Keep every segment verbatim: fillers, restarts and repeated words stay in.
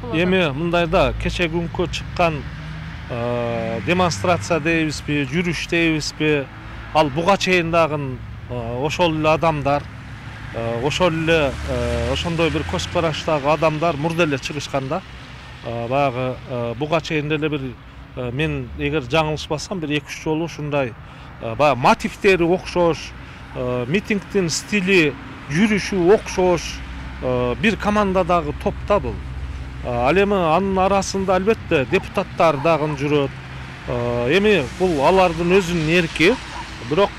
болот. Эми мындайда кече күнкү чыккан демонстрация дейбизби, жүрүш дейбизби, ал буга чейин дагы ошол эле адамдар, ошол эле ошондой бир көз караштагы адамдар мурда эле чыгышканда, баягы буга чейин деле бир мен эгер жаңылышпасам бир эки үч жолу ушундай баягы мотивдери окшош, митингдин стили, жүрүшү окшош бир командадагы топ да бул. Ал эми анын арасында албетте депутаттар дагы жүрөт. Эми бул алардын өзүнүн эрки, бирок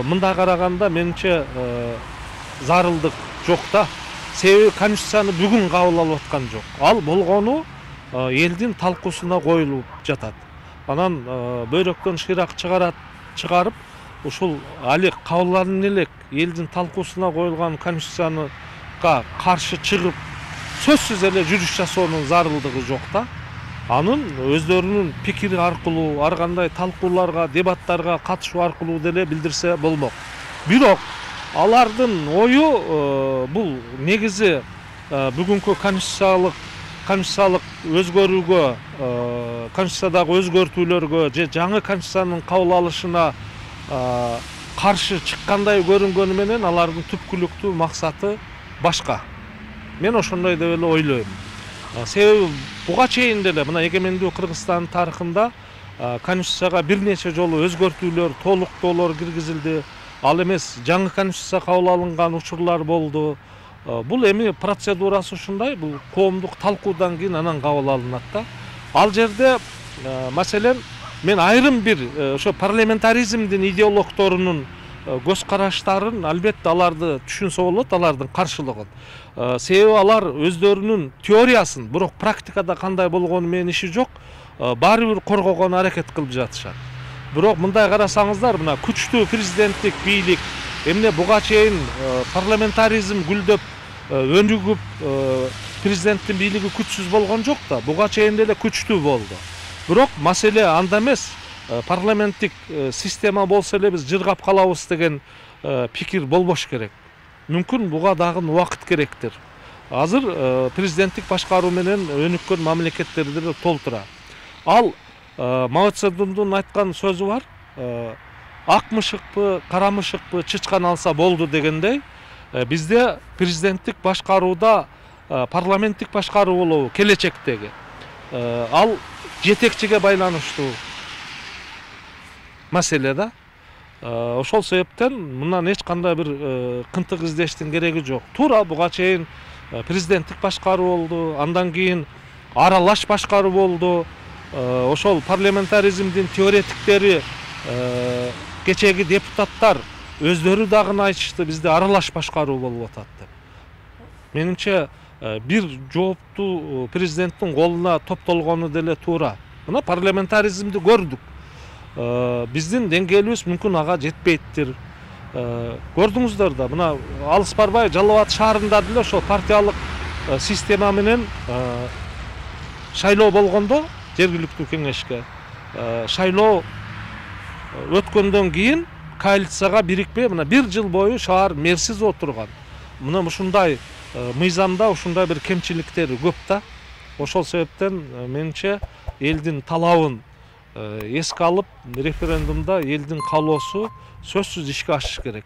мындай караганда менимче зарылдык жок да. Себеби конституцияны бүгүн кабыл алып аткан жок. Ал болгону элдин талкуусуна коюлуп жатат. Анан бөйрөктөн шыйрак чыгарат, чыгарып, ушул али кабылданын элек элдин талкуусуна коюлган конституцияга каршы чыгып, сөзсүз эле жүрүш жасоонун зарылдыгы жок да. Анын өздөрүнүн пикири аркылуу, ар кандай талкууларга, дебаттарга катышуу аркылуу деле билдирсе болмок. Бирок алардын ою бул негизи бүгүнкү конституциялык конституциялык өзгөрүүгө, конституциядагы өзгөртүүлөргө же жаңы конституциянын кабыл алышына каршы чыккандай көрүнгөнү менен алардын түпкүлүктүү максаты башка. Мен ошондой деп эле ойлойм. Себеби буга чейин деле мына эгемендүү Кыргызстан тарыхында конституцияга бир нече жолу өзгөртүүлөр, толуктоолор киргизилди. Ал эмес жаңы конституция кабыл алынган учурлар болду. Бул эми процедурасы ушундай, бул коомдук талкуудан кийин анан кабыл алынат да. Ал жерде маселен мен айрым бир ошо парламентаризмдин идеологторунун көз караштарын албетте аларды түшүнсө болот, алардын каршылыгын. Себеби алар өздөрүнүн теориясын, бирок практикада кандай болгону менен иши жок, баары бир коргогонго аракет кылып жатышат. Бирок мындай карасаңыздар, мына күчтүү президенттик бийлик, эмне буга чейин парламентаризм гүлдөп, өнүгүп, президенттин бийлиги күчсүз болгон жок да, буга чейин деле күчтүү болду. Бирок маселе анда эмес, парламенттик система болсо эле биз жыргап калабыз деген пикир болбош керек. Мүмкүн буга дагы убакыт керектир. Азыр президенттик башкаруу менен өнүккөн мамлекеттерди деле толтура. Ал Мао Цзедундун айткан сөзү бар. Ак мышыкпы, кара мышыкпы чычкан алса болду дегендей, бизде президенттик башкарууда парламенттик башкаруу болобу келечектеги. Ал жетекчиге байланыштуу маселе да. Ошол себептен мындан эч кандай бир кынтык издештин кереги жок. Туура буга чейин президенттик башкаруу болду, андан кийин аралаш башкаруу болду. Ошол парламентаризмдин теоретиктери, кечеги депутаттар өздөрү дагы айтышты, бизде аралаш башкаруу болуп атат деп. Менимче бир жооптуу президенттин колуна топтолгону деле туура. Мына парламентаризмди көрдүк. Биздин деңгээлибиз мүмкүн ага жетпейттир. Көрдүңүздөр да, мына алыс барбай Жалал Абад шаарында деле ошол партиялык система менен шайлоо болгондо жергиликтүү кеңешке шайлоо өткөндөн кийин коалицияга бирикпей мына бир жыл бою шаар мэрсиз отурган. Мына ушундай мыйзамда ушундай бир кемчиликтери көп да. Ошол себептен менимче элдин талабын эске алып, референдумда элдин каалоосу сөзсүз ишке ашыш керек.